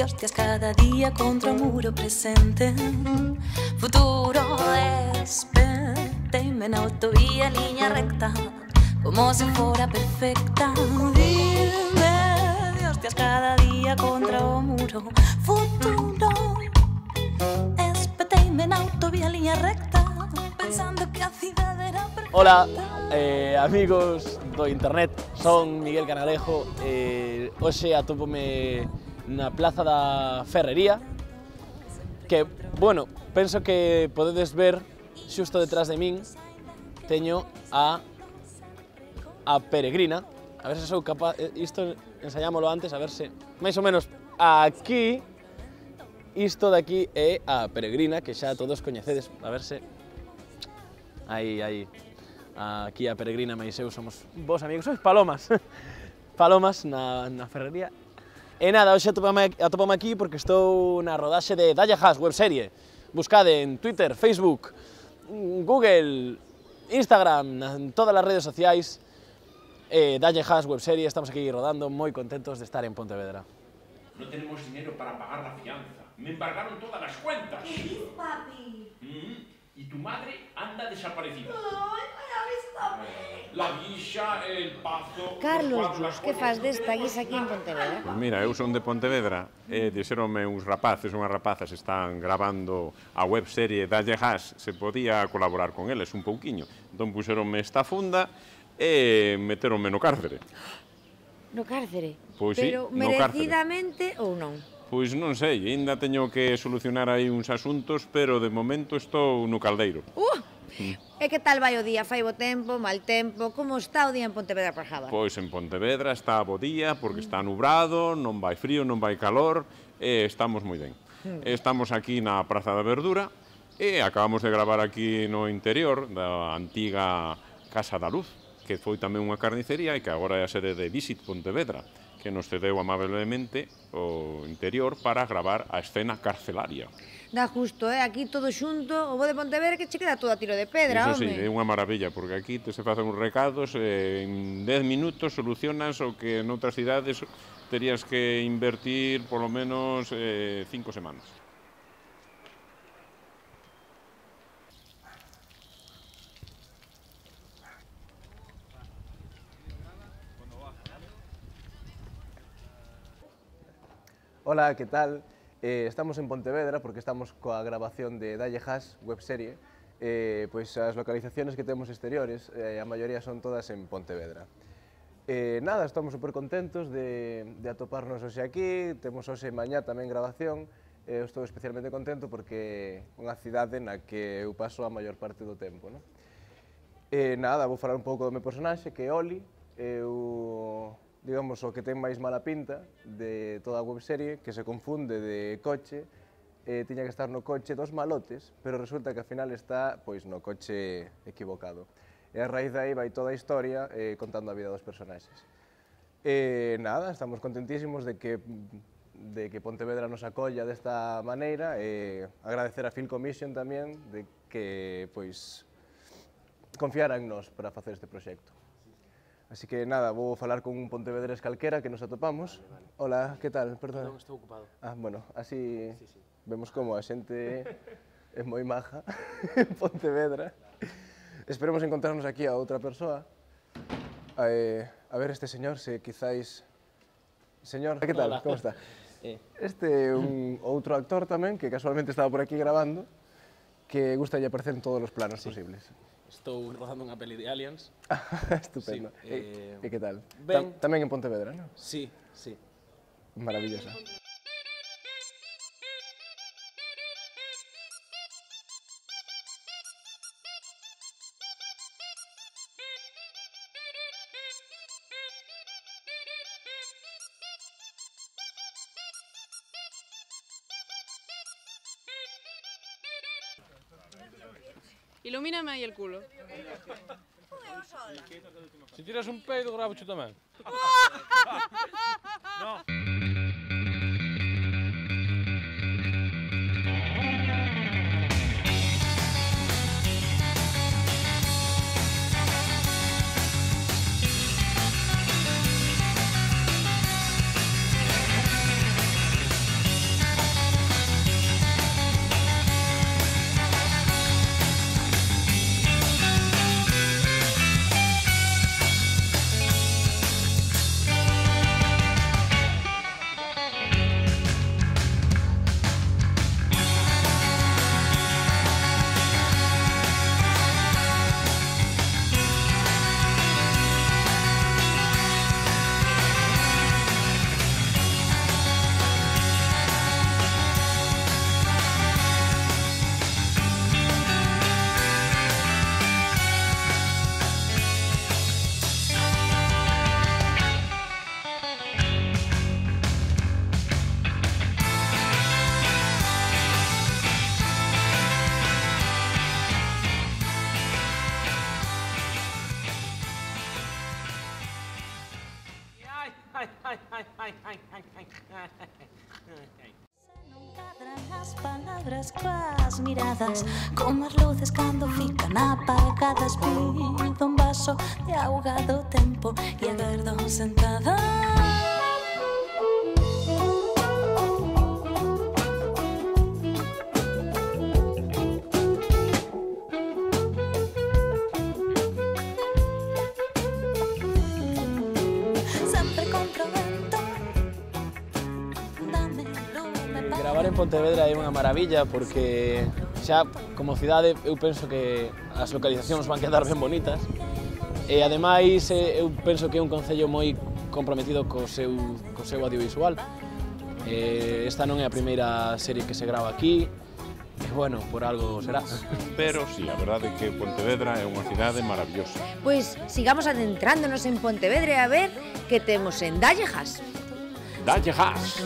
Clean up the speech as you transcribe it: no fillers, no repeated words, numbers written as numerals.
Hostias cada día contra un muro presente. Futuro despedime en autovía, línea recta, como si fuera perfecta. Dime de hostias cada día contra un muro. Futuro despedime en autovía, línea recta, pensando que a cidade era perfecta. Hola, amigos do internet, son Miguel Canalejo. Hoxe atópome na Plaza da Ferrería, que, bueno, penso que podedes ver xusto detrás de min, teño a Peregrina. A ver se sou capaz, isto ensayámolo antes, a ver se, máis ou menos, aquí, isto de aquí é a Peregrina, que xa todos coñecedes, a ver se, aí, aquí a Peregrina máis eu somos vos amigos, sois palomas, palomas na Ferrería. E nada, hoxe atopame aquí porque estou na rodaxe de Dalle Hash webserie. Buscade en Twitter, Facebook, Google, Instagram, en todas as redes sociais. Dalle Hash webserie, estamos aquí rodando, moi contentos de estar en Pontevedra. No tenemos dinero para pagar la fianza. Me embargaron todas las cuentas. ¿Qué dices, papi? Y tu madre anda desaparecida. Ay, avísame. La guisa, el pazo... Carlos Luz, que faz desta guisa aquí en Pontevedra? Pois mira, eu son de Pontevedra e dixeronme uns rapaces, unhas rapazas están grabando a webserie Dalle Hash, se podía colaborar con eles un pouquiño. Entón puxeronme esta funda e meteronme no cárcere. No cárcere? Pois sí, pero no cárcere. merecidamente ou non? Pois non sei, ainda teño que solucionar aí uns asuntos, pero de momento estou no caldeiro. E que tal vai o día? Fai bo tempo, mal tempo? Como está o día en Pontevedra por Java? Pois en Pontevedra está bo día, porque está nubrado, non vai frío, non vai calor, e estamos moi ben. Estamos aquí na Praza da Verdura, e acabamos de gravar aquí no interior da antiga Casa da Luz, que foi tamén unha carnicería e que agora é a sede de Visit Pontevedra, que nos cedeu amablemente o interior para gravar a escena carcelaria. Dá justo, aquí todo xunto, o bo de Pontevedra que che queda todo a tiro de pedra, Iso sí, home. é unha maravilla, porque aquí te se facen uns recados, en 10 minutos solucionas o que noutras cidades terías que invertir polo menos 5 semanas. Hola, que tal? Estamos en Pontevedra porque estamos coa grabación de Dalle Hash webserie. Pois as localizaciones que temos exteriores, a maioría son todas en Pontevedra. Nada, estamos super contentos de atoparnos hoxe aquí, temos hoxe mañá tamén grabación. Estou especialmente contento porque é unha cidade na que eu paso a maior parte do tempo. Nada, vou falar un pouco do meu personaxe, que é Oli. Digamos, o que ten máis mala pinta de toda a webserie, que se confunde de coche, tiña que estar no coche dos malotes, pero resulta que ao final está pois no coche equivocado. E a raíz de aí vai toda a historia contando a vida dos personaxes. Nada, estamos contentísimos de que Pontevedra nos acolla desta maneira e agradecer a Film Commission tamén de que pois confiara en nós para facer este proxecto. Así que nada, vou falar con un pontevedrés calquera que nos atopamos. Hola, que tal? Perdón. Non, estou ocupado. Bueno, así vemos como a xente é moi maja en Pontevedra. Esperemos encontrarnos aquí a outra persoa. A ver este señor, se quizáis... Señor, que tal? Como está? Este é un outro actor tamén, que casualmente estaba por aquí grabando, que gustalle aparecer en todos os planos posibles. Estou rodando unha peli de Aliens. Estupendo. E que tal? Ben. Tamén en Pontevedra, non? Sí, sí. Maravillosa. Ilumíname aí el culo. Si tiras un peido, gravo yo tamén. No. Non cadran as palabras coas miradas, como as luces cando fican apagadas. Pido un vaso de auga do tempo e agardo sentada. Gravar en Pontevedra é unha maravilla porque xa como cidade eu penso que as localizacións van quedar ben bonitas e ademais eu penso que é un concello moi comprometido co seu audiovisual. Esta non é a primeira serie que se grava aquí e bueno, por algo será. Pero sí, a verdade é que Pontevedra é unha cidade maravillosa. Pois sigamos adentrándonos en Pontevedra a ver que temos en Dalle Gas. Dalle Gas!